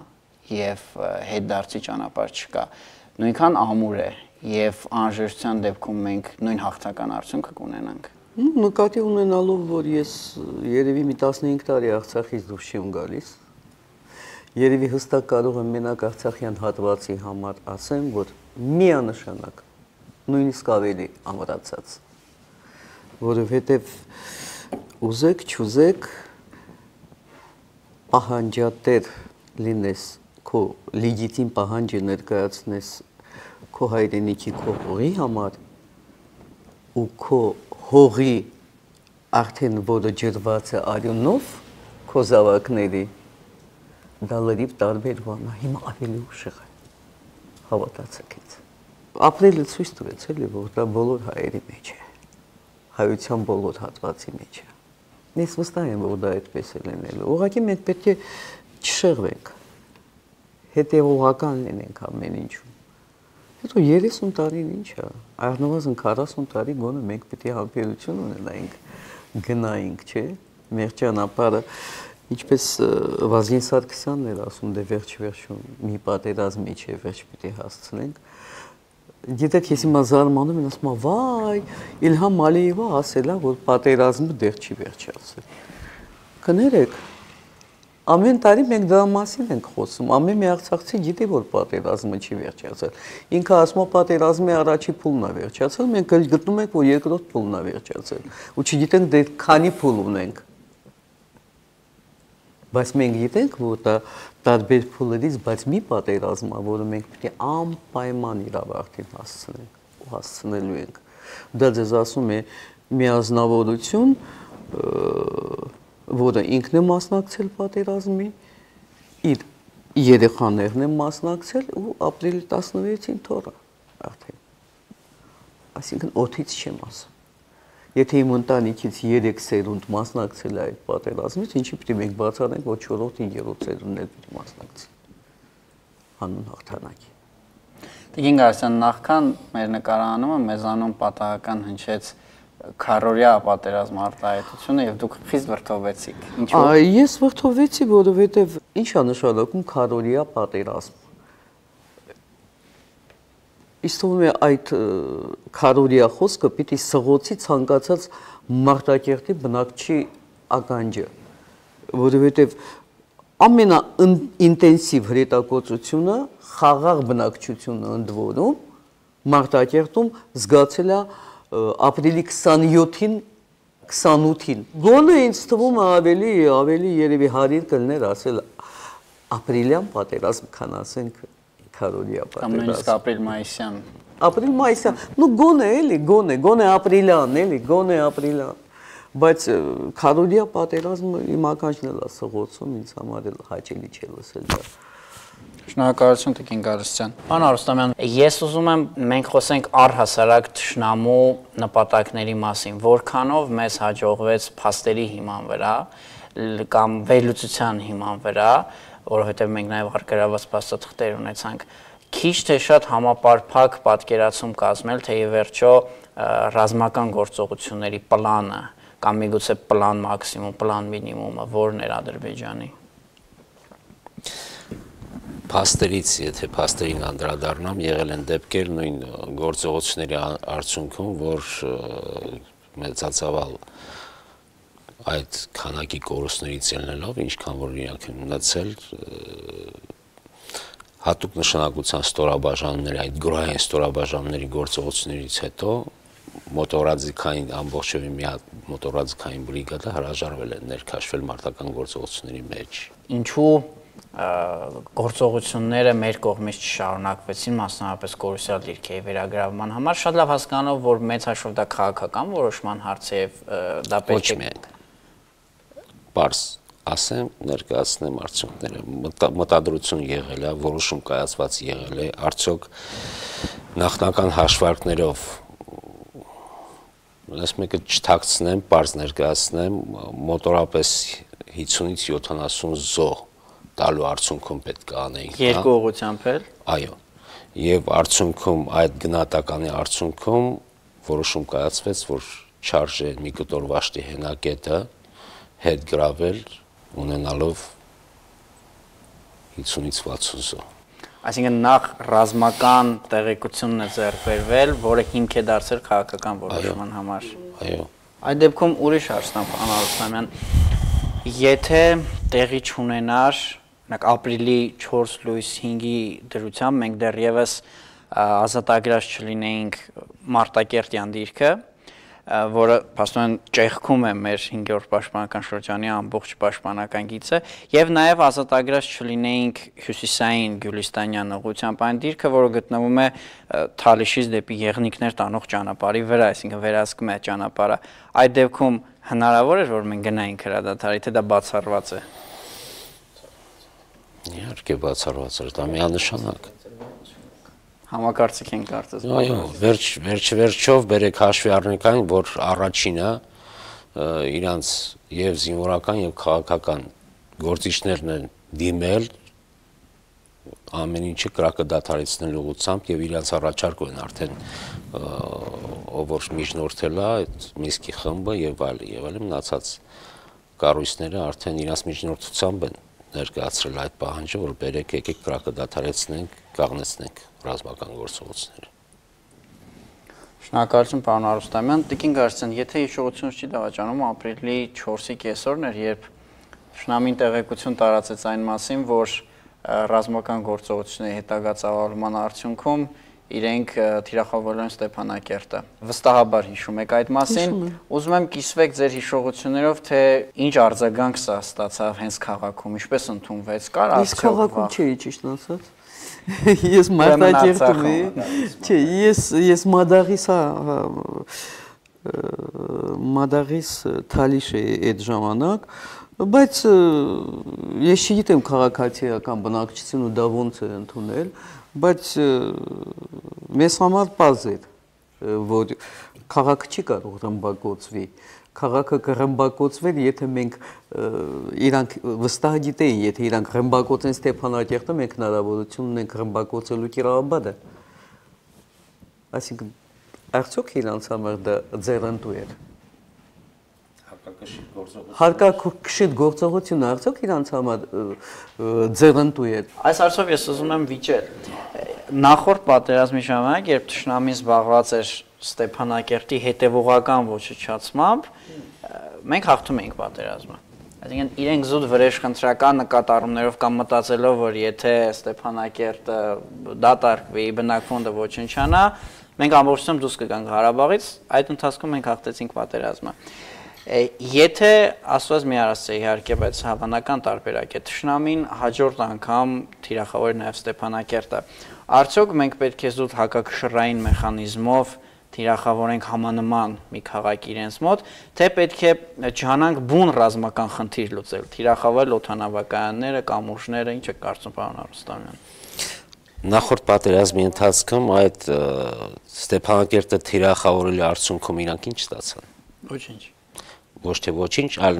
եւ հետդարձի ճանապարհ չկա, նույնքան ամուր է եւ անհրաժեշտության դեպքում մենք նույն հաղթական արդյունքը կունենանք։ Նկատի ունենալով, որ ես երևի մի 15 տարի Արցախից դուրս չեմ գալիս, երևի հստակ կարող եմ մենակ Արցախյան հատվածի համար ասեմ, որ միանշանակ նույնիսկ ավելի ամրացած, որովհետև ուզեք, չուզեք, պահանջատեր լինես, քո լեգիտիմ պահանջը ներկայացնես քո հայրենիքի, քո հողի համար ու քո հողի արդեն որը ջրված է արյունով քո զավակների, դա լրիվ տարբեր բան է, հիմա ավելի ուշեղ է, հավատացեք ինձ։ Ապրիլը ցույց տվեց, էլի, որ դա բոլոր հայերի մեջ է, հայության բոլոր հատվածի մեջ է։ Ես վստահ եմ, որ դա այդպես է լինելու։ Ուղղակի մենք պետք է չշեղվենք, հետևողական լինենք ամեն ինչում։ Հետո 30 տարին ինչ է, առնվազն 40 տարի գոնե մենք պետք է համբերություն ունենայինք, գնայինք, չէ՞, մեր ճանապարհը, ինչպես Վազգեն Սարգսյանն էր ասում, դե վերջ-վերջում մի պատերազմի չէ, վերջ պիտի հասցնենք։ Գիտեք, ես հիմա զարմանում եմ, ասում եմ, վայ, Իլհամ Ալիևը ասել է, որ պատերազմը դեռ չի վերջացել։ Կներեք, ամեն տարի մենք դրա մասին ենք խոսում, ամեն մի արցախցի գիտի, որ պատերազմը չի վերջացել։ Ինքը ասում է, պատերազմի առաջի փուլն է վերջացել, մենք գտնում ենք, որ երկրորդ փուլն է վերջացել, ու չգիտենք դե քանի փուլ ունենք։ Բայց մենք գիտենք, որ դա տարբեր փուլերից, բայց մի պատերազմ է, որը մենք պետք է անպայման իր ավարտին հասցնենք ու հասցնելու ենք։ Դա ձեզ ասում է միազնավորություն, որը ինքն է մասնակցել պատերազմի, իր երեխաներն են մասնակցել ու ապրիլի 16-ին թոռը արդեն։ Այսինքն օդից չեմ ասում։ Եթե իմ ընտանիքից 3 սերունդ մասնակցել է այդ պատերազմից, ինչի պիտի մենք բացառենք, որ 4-րդ, 5-րդ սերունդն էլ պիտի մասնակցի հանուն հաղթանակի։ Տիկին Գարստյան, նախքան մեր նկարահանումը մեզանում պատահական հնչեց քարորյա պատերազմ արտահայտությունը եւ դուք խիստ վրդովվեցիք։ Ինչու՞։ Ես վրդովվեցի, որովհետեւ ինչ է նշանակում քարորյա պատերազմ։ Իսկ թվում է այդ քարորյա խոսքը պիտի սղոցի ցանկացած Մարտակերտի բնակչի ականջը, որովհետեւ ամենաինտենսիվ հրետակոծությունը խաղաղ բնակչությունը ընդ որում Մարտակերտում զգացել է ապրիլի 27-ին, 28-ին։ Գոնե ինձ թվում է ավելի երևի հարիր կլներ ասել ապրիլյան պատերազմ, քան ասենք քարորյա պատերազմ։ Կամ նույնիսկ ապրիլ-մայիսյան։ Ապրիլ-մայիսյան, նու գոնե էլի, գոնե ապրիլյան, էլի, գոնե ապրիլյան։ Բայց քարորյա պատերազմը իմ ականջն էլ է սղոցում, ինձ համար էլ հաճելի չէ լսել դա։ Շնորհակալություն Տիկին Գարստյան։ Պարոն Արուստամյան, ես ուզում եմ մենք խոսենք առհասարակ թշնամու նպատակների մասին, որքանով մեզ հաջողվեց փաստերի հիման վրա կամ վերլուծության հիման վրա, որովհետև մենք նաև արգելված փաստաթղթեր ունեցանք, քիչ թե շատ համապարփակ պատկերացում կազմել, թե ի վերջո ռազմական գործողությունների պլանը կամ միգուցե պլան մաքսիմում, պլան մինիմումը որն էր Ադրբեջանի։ Փաստերից, եթե փաստերին անդրադառնամ, եղել են դեպքեր նույն գործողությունների արդյունքում, որ մեծացավալ այդ քանակի կորուստներից ելնելով, ինչքան որ իրանք են ունեցել հատուկ նշանակության ստորաբաժանումների, այդ գրոհային ստորաբաժանումների գործողություններից հետո մոտորաձիգային ամբողջովին մի հատ մոտորաձիգային բրիգադը հրաժարվել է ներքաշվել մարտական գործողությունների մեջ։ Ինչու գործողությունները մեր կողմից չշարունակվեցին, մասնավորապես Կորուսյալ դիրքերի վերագրավման համար, շատ լավ հասկանալով, որ մեծ հաշվով դա քաղաքական որոշման հարց է եւ դա պետք է պարզ ասեմ, ներկայացնեմ արդյունքները, մտադրություն եղել է, որոշում կայացված եղել է, արդյոք նախնական հաշվարկներով ես մեկը չթաքցնեմ, պարզ ներկայացնեմ, մոտորապես 50-ից 70 զոհ տալու արդյունքում պետք է անեինք։ Երկու ուղղությամբ էլ։ Այո։ Եվ արդյունքում այդ գնահատականի արդյունքում որոշում կայացվեց, որ չարժե մի կտոր վաշտի հենակետը հետ գրավել ունենալով 50-ից 60 զոհ։ Այսինքն նախ ռազմական տեղեկությունն է ձեռք բերվել, որը հիմք է դարձել քաղաքական որոշման համար։ Այո։ Այդ դեպքում ուրիշ հարցն է, Անարուսամյան, եթե տեղի չունենար, օրինակ ապրիլի 4 լույս 5-ի դրությամբ մենք դեռևս ազատագրած չլինեինք Մարտակերտյան դիրքը, որը փաստորեն ճեղքում է մեր 5-րդ պաշտպանական շրջանի ամբողջ պաշտպանական գիծը, եւ նաեւ ազատագրած չլինեինք հյուսիսային Գյուլիստանյան ուղղությամբ այն դիրքը, որը գտնվում է Թալիշից դեպի Եղնիկներ տանող ճանապարհի վրա, այսինքն վերահսկում է ճանապարհը։ Այդ դեպքում հնարավոր էր, որ մենք գնայինք հրադադարի, թե դա բացառված է։ Իհարկե բացառված էր, դա միանշանակ։ Համակարծիք են կարծես։ Այո, վերջով բերեք հաշվի առնենք այն, որ առաջինը իրանց եւ զինվորական եւ քաղաքական գործիչներն են դիմել ամեն ինչը կրակը դադարեցնելու ուղղությամբ եւ իրանց առաջարկում են արդեն ով որ միջնորդել է այդ Միսկի խմբը եւ այլն մնացած կառույցները արդեն իրանց միջնորդությամբ են ներկայացրել այդ պահանջը, որ բերեք եկեք կրակը դադարեցնենք, կաղնեցնենք ռազմական գործողությունները։ Շնորհակալություն, պարոն Արուստամյան։ Տիկին Գարցյան, եթե հիշողությունս չի դավաճանում, ապրիլի 4-ի կեսօրն էր, երբ Շնամին տեղեկություն տարածեց այն մասին, որ ռազմական գործողությունների հետագա ծավալման արդյունքում իրենք թիրախավորել են Ստեփանակերտը։ Վստահաբար հիշում եք այդ մասին։ Ուզում եմ կիսվեք ձեր հիշողություններով, թե ինչ արձագանք սա ստացավ հենց քաղաքում, ինչպես ընդունվեց, կար արդյոք։ Իսկ քաղաքում չէի ճիշտ ասած։ Ես Մարտակերտում էի։ Չէ, ես Մադաղիս Թալիշ էի այդ ժամանակ, բայց ես չգիտեմ քաղաքացիական բնակչությունը դա ոնց է ընդունել, բայց մեզ համար պարզ էր, որ քաղաքը չի կարող ռմբակոծվի, քաղաքը կռմբակոծվեր, եթե մենք իրանք վստահ գիտեին, եթե իրանք ռմբակոծեն Ստեփանակերտը, մենք հնարավորություն ունենք ռմբակոծելու Կիրովաբադը։ Այսինքն արդյոք իրանց համար դա ձեռնտու էր։ Հարկակշիռ գործողությունը արդյոք իրանց համար ձեռնտու էր։ Այս հարցով ես ուզում եմ վիճել։ Նախորդ պատերազմի ժամանակ, երբ Թշնամին զբաղված էր Ստեփանակերտի հետևողական ոչնչացմամբ, մենք հաղթում էինք պատերազմը։ Այսինքն իրենք զուտ վրեժխնդրական նկատառումներով կամ մտածելով, որ եթե Ստեփանակերտը դատարկվի, բնակվոնդը ոչնչանա, մենք ամբողջությամբ դուրս կգանք Ղարաբաղից, այդ ընթացքում մենք հաղթեցինք պատերազմը։ Եթե ասված մի արասը իհարկե, բայց հավանական տարբերակ է, Թշնամին հաջորդ անգամ թիրախավոր նաև Ստեփանակերտը, արդյոք մենք պետք է զուտ հակակշռային մեխանիզմով թիրախավորենք համանման մի քաղաք իրենց մոտ, թե պետք է ջանանք բուն ռազմական խնդիր լուծել, թիրախավորել օդանավակայանները, կամուրջները, ինչ է կարծում պարոն Արուստամյան։ Նախորդ պատերազմի ընթացքում այդ Ստեփանակերտը թիրախավորելի արդյունքում իրանք ինչ ստացան։ Ոչինչ։ Ոչ թե ոչինչ, այլ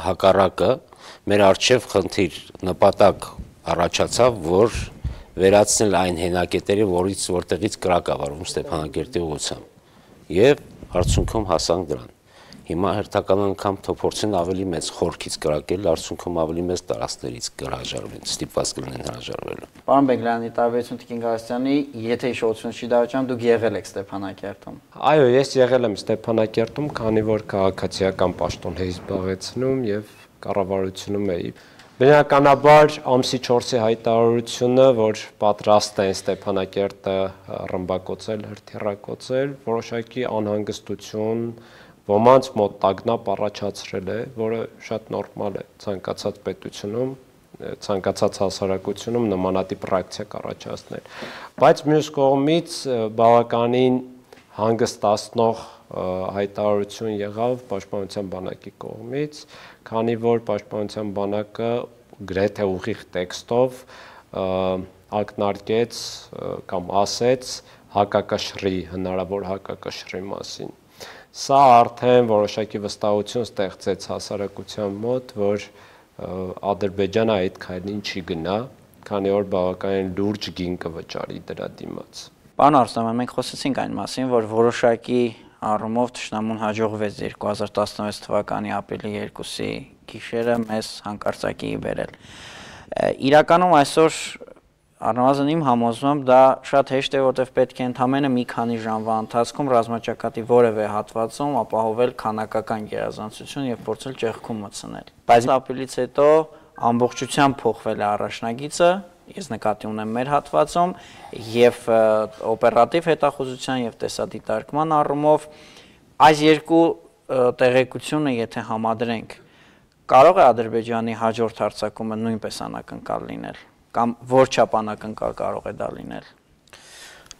հակառակը մեր արժև խնդիր նպատակ առաջացավ, որ վերացնել այն հենակետերը, որտեղից կրակ ավարվում Ստեփանակերտի ուղղությամբ։ Եվ արդյունքում հասանք դրան։ Հիմա հերթական անգամ փորձեն ավելի մեծ խորքից կրակել, արդյունքում ավելի մեծ տարածքներից կհրաժարվեն, ստիպված կլինեն հրաժարվելու։ Պարոն Բեգլյանի, տարբերություն Տիկին Գալստյանի, եթե հիշողություն չի դավաճանում, դուք եղել եք Ստեփանակերտում։ Այո, ես եղել եմ Ստեփանակերտում, քանի որ քաղաքացիական պաշտոն էի զբաղեցնում եւ կառավարությունում էի։ Բնականաբար ամսի 4-ի հայտարարությունը, որ պատրաստ են Ստեփանակերտը ռմբակոծել, հրթիռակոծել, որոշակի անհանգստություն ոմանց մոտ տագնապ առաջացրել է, որը շատ նորմալ է ցանկացած պետությունում, ցանկացած հասարակությունում նմանատիպ ռեակցիա կառաջացնել։ Բայց մյուս կողմից բավականին հանգստացնող հայտարարություն եղավ Պաշտպանության բանակի կողմից, քանի որ Պաշտպանության բանակը գրեթե ուղիղ տեքստով ակնարկեց կամ ասեց հակակշռի, հնարավոր հակակշռի մասին։ Սա արդեն որոշակի վստահություն ստեղծեց հասարակության մոտ, որ Ադրբեջանը այդ քայլին չի գնա, քանի որ բավականին լուրջ գին կվճարի դրա դիմաց։ Պարոն Արստաման, մենք խոսեցինք այն մասին, որ որոշակի առումով թշնամուն հաջողվեց 2016 թվականի ապրիլի 2-ի գիշերը մեզ հանկարծակի բերել։ Իրականում այսօր առնվազն իմ համոզմամբ դա շատ հեշտ է, որտեղ պետք է ընդամենը մի քանի ժամվա ընթացքում ռազմաճակատի որևէ հատվածում ապահովել քանակական գերազանցություն եւ փորձել ճեղքում մտցնել։ Բայց ապրիլից հետո ամբողջությամբ փոխվել է առաջնագիծը, ես նկատի ունեմ մեր հատվածում եւ օպերատիվ հետախուզության եւ տեսադիտարկման առումով այս երկու տեղեկությունը եթե համադրենք, կարող է Ադրբեջանի հաջորդ հարձակումը նույնպես անակնկալ լինել կամ որ չափ անակնկալ կարող է դա լինել։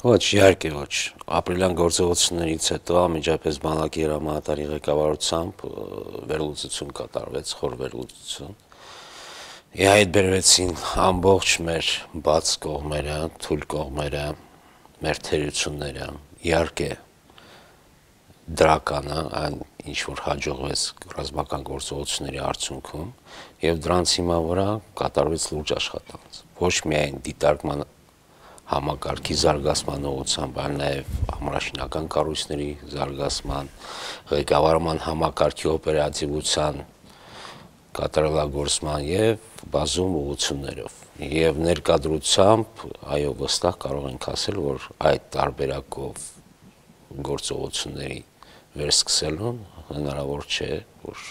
Ոչ, իհարկե ոչ։ Ապրիլյան գործողություններից հետո անմիջապես բանակի հրամանատարի ղեկավարությամբ վերլուծություն կատարվեց, խոր վերլուծություն։ Իհայտ բերվեցին ամբողջ մեր բաց կողմերը, թույլ կողմերը, մեր թերությունները, իհարկե դրականը, այն ինչ որ հաջողվեց ռազմական գործողությունների արդյունքում եւ դրանց հիմա վրա կատարվեց լուրջ աշխատանք։ Ոչ միայն դիտարկման համակարգի զարգացման ուղղությամբ, այլ նաեւ ամրաշինական կառույցների զարգացման, ղեկավարման համակարգի օպերատիվության կատարելագործման եւ բազում ուղղություններով եւ ներկայությամբ այո վստահ կարող ենք ասել որ այդ տարբերակով գործողությունների վերսկսելուն հնարավոր չէ որ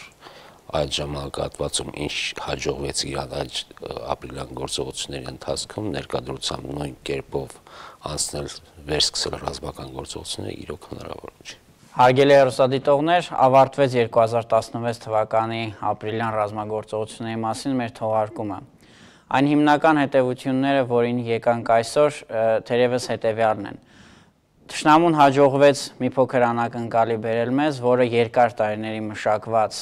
այդ ժամանակահատվածում ինչ հաջողվեց Իրան այդ ապրիլյան գործողությունների ընթացքում ներկայությամբ նույն կերպով անցնել վերսկսել ռազմական գործողությունները իրոք հնարավոր չէ։ Հարգելի հեռուստադիտողներ, ավարտվեց 2016 թվականի ապրիլյան ռազմագործողությունների մասին մեր թողարկումը։ Այն հիմնական հետևությունները, որին եկանք այսօր, թերևս հետևյալն են։ Թշնամուն հաջողվեց մի փոքր անակնկալի բերել մեզ, որը երկար տարիների մշակված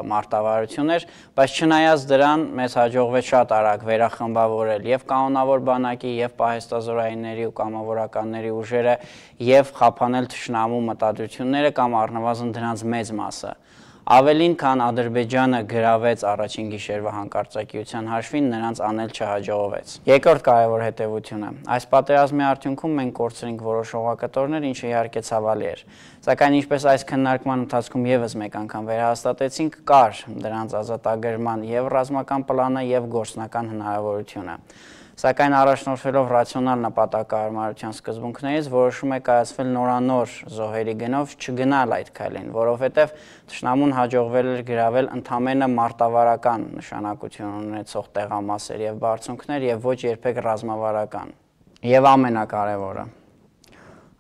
մարտավարություն էր, բայց չնայած դրան մեզ հաջողվեց շատ արագ վերախմբավորել եւ կանոնավոր բանակի, եւ պահեստազորայինների ու կամավորականների ուժերը, եւ խափանել թշնամու մտադրությունները կամ առնվազն դրանց մեծ մասը։ Ավելին, քան Ադրբեջանը գրավեց առաջին գիշերվա հանկարծակիության հաշվին, նրանց անել չհաջողվեց։ Երկրորդ կարևոր հետևությունը։ Այս պատերազմի արդյունքում մենք կորցրինք որոշ օղակտորներ, ինչը իհարկե ցավալի էր։ Սակայն ինչպես այս քննարկման ընթացքում եւս մեկ անգամ վերահաստատեցինք, կար դրանց ազատագրման եւ ռազմական պլանը եւ գործնական հնարավորությունը։ Սակայն առաջնորդվելով ռացիոնալ նպատակահարմարության սկզբունքներից որոշում է կայացվել նորանոր զոհերի գնով չգնալ այդ քայլին, որովհետև թշնամուն հաջողվել էր գրավել ընդամենը մարտավարական նշանակություն ունեցող տեղամասեր եւ բարձունքներ եւ ոչ երբեք ռազմավարական։ Եվ ամենակարևորը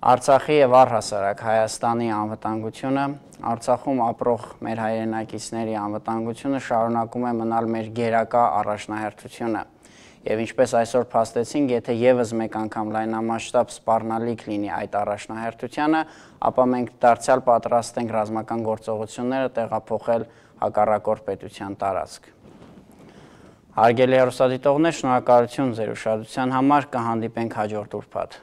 Արցախի եւ առհասարակ Հայաստանի անվտանգությունը, Արցախում ապրող մեր հայրենակիցների անվտանգությունը շարունակում է մնալ մեր գերակա առաջնահերթությունը։ Եվ ինչպես այսօր փաստեցինք, եթե եւս մեկ անգամ լայնամասշտաբ սպառնալիք լինի այդ առաջնահերթությանը, ապա մենք դարձյալ պատրաստ ենք ռազմական գործողությունները տեղափոխել հակառակորդ պետության տարածք։ Հարգելի հեռուստադիտողներ, շնորհակալություն ձեր ուշադրության համար, կհանդիպենք հաջորդ ուրբաթ։